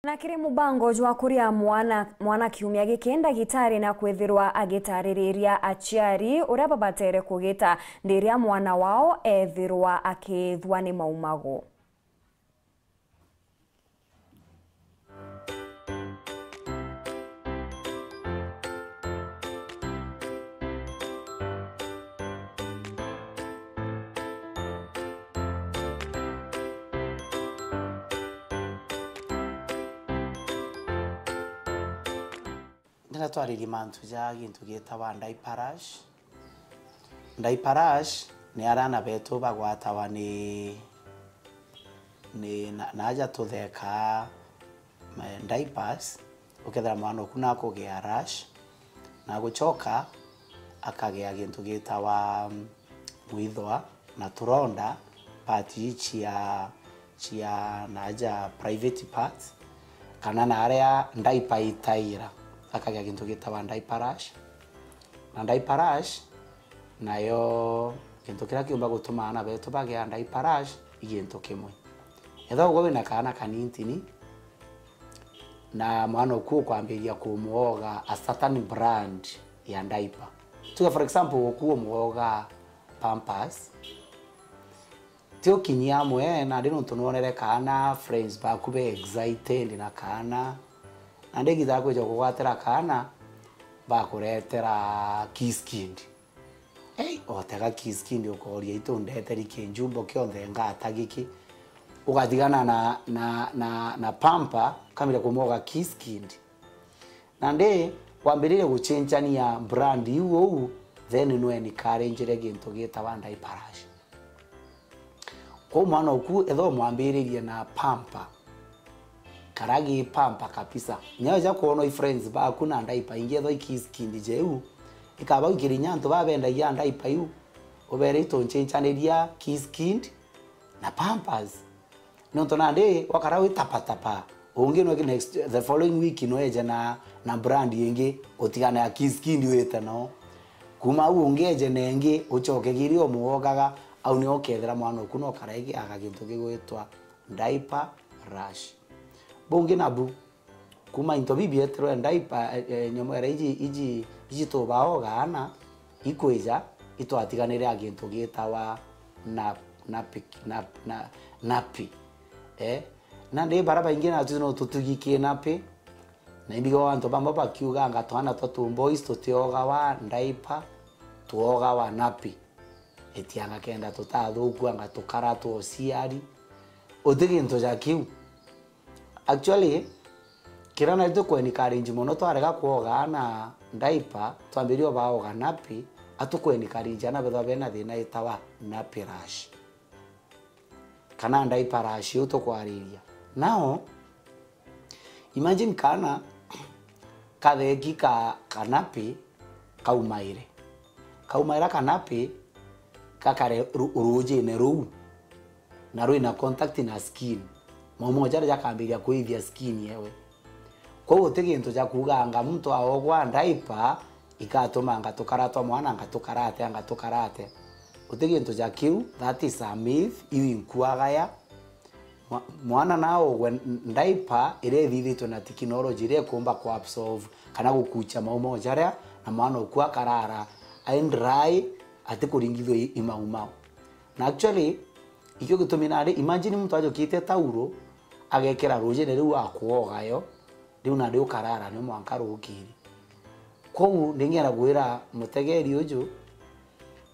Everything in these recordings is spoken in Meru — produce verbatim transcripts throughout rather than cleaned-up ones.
Na kiri mubango jwa kuria mwana, mwana kiumia giki, ndagitari na kwithirwa agitaririria aciari uria babatere kugita ndiria mwana wao ethirwa akithua ni maumagu. Ndiratwaririe mantu ja gintu gitawa diaper rash. Diaper rash ni aria aana betu bagwatawa ni, ni na, na aja tuthekaa, eh, diapers, ukethira mwana oku nakugia rash, na gucoka akagia gintu gitawa, mm, mwithwa na turonda part ii cia, cia naaja private parts, kana na aria diaper itaira, akagia gintu gitawa diaper rash. Na diaper rash nayo, gintu kiria kiumba gutuma aana betu bagia diaper rash i gintu kimwe. Ethirwa ugwe wina kaana kanintini, na mwana oku ukwambiriria kumwoga a certain brand ya diaper. Tuge for example, oku umwoga Pampers, ti ukinyi amwe, nandi nontu nwonere kaana, friends baku be excited na kaana, nandi igita ria kwija kugwatira kaana, bakuretera Kiss Kid. Ei, otega Kiss Kid, ukoria, "Itu ndeteri kinjumbo kionthe ngata giki?" Ugatigana na, na, na, na pamper, ukambiria kumwoga Kiss Kid. Nandi wambiririe guchenjania brand iu uu, then nwe encouragire gintu gitawa diaper rash. Kwou mwana oku, ethirwa umwambiririe na pamper, kara gi pamper kabisa. Kinya weja kwonwa i friends baku na diaper ingi, ethirwa i Kiss Kid jeu, ikaba gukira inya antu babendagia diaper iu, ubere, "Itu nchenchaniria Kiss Kid na Pampers." Nontu nandi wakara wi tapatapa, ungi no next, the following week no eje na, na brand ingi, utigane ya Kiss Kid wite no. Kuma au ungi eje na ingi, ucoke kiri umwogaga, au nio ukethira mwana oku no karaigi aga gintu gigwitwa diaper rash. Bungi nabu, kuma into bibi eterwe diaper, eh, eh, nyomo era iji, iji, iji tubaoga aana, ikwija, itwatiganire a gintu gitawa na, napi, na, na, napi. Eh? Nandi bara baingi natu no tutugi ki napi. Na imbigo antu bamwe bakiuganga twana twa tu boys tutiogawa diaper, tuogawa napi. Etianga kenda tutathukua anga tukara twa uciari. Uti gintu ja kiu. Actually, kiria nari tuku encourage mono, twarega kwoga aana diaper, twambirie obaoga napi, atuku encourage aana bethwa bena thina itawa nappy rash. Kana diaper rash iu tukwariria. Now, imagine kaana katheki ka, ka nappy kaumaire. Kaumaira ka nappy gakare ru-, rujine ruu, na rwina contact na skin. Maumo jaria jakambiria kuithia skin yewe. Kwou guti gintu ja kuuga anga muntu aogwa diaper, ikatuma anga tukara twa mwana, anga tukara atia, anga tukara atia. Guti gintu ja kiu, that is a myth, iu inkuagaya. Mwa-, mwana naogwe n-, diaper iria ithithitwe na technology iria ikumba ku absorb kana gukucha maumo jaria, na mwana oku akarara ai dry, atikuringithua i, i maumau. Na actually, ikio gitumi nari, imagine muntu ajukite tauro, agekira rujine riu akuoga yo, riu nandi ukarara ni mwanka rukiri. Kwou ndingienda kwira mutegeri uju,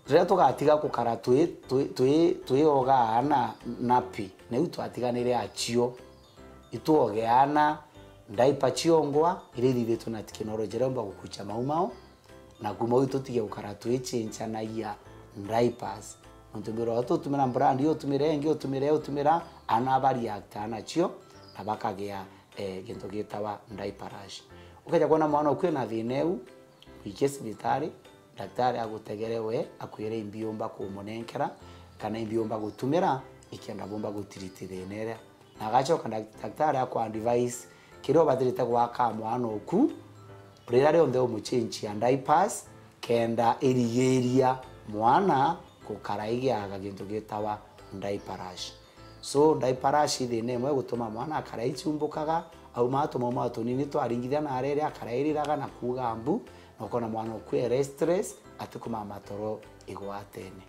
riria tugatiga gukara twi, twi, twi, twioga aana nappy, na iu twatiganire acio, ituoge aana diaper ciongwa, iria ithithitwe na technology iria umba gukucha maumau, na kuma au tutige gukara twichinchanagia diapers. Nontu mbira tutumira brand, utumire ingi, utumire, utumira, aana ba react nacio, na bakagia, eh, gintu gitawa diaper rash. Ukeja kwona mwana oku ena thina iu, mwikie cibitari, daktari agutegere we, akwire imbi umba kumunenkera, kana imbi umba gutumira, ikenda bumba gutreat thina iria. Na agacoka dak-, daktari akwa advise kiria ubatirite gwaka mwana oku, riria rionthe umuchenchia diapers, kenda irigiria mwana gukara igiaga gintu gitawa diaper rash. So, diaper rash i thina imwe gutuma mwana akara ichumbukaga, Auma atuma uma tunini twaringithia na arere akarairiraga na kuuga mbu, na ukona mwana ukue restless, atikumama toro igwatene.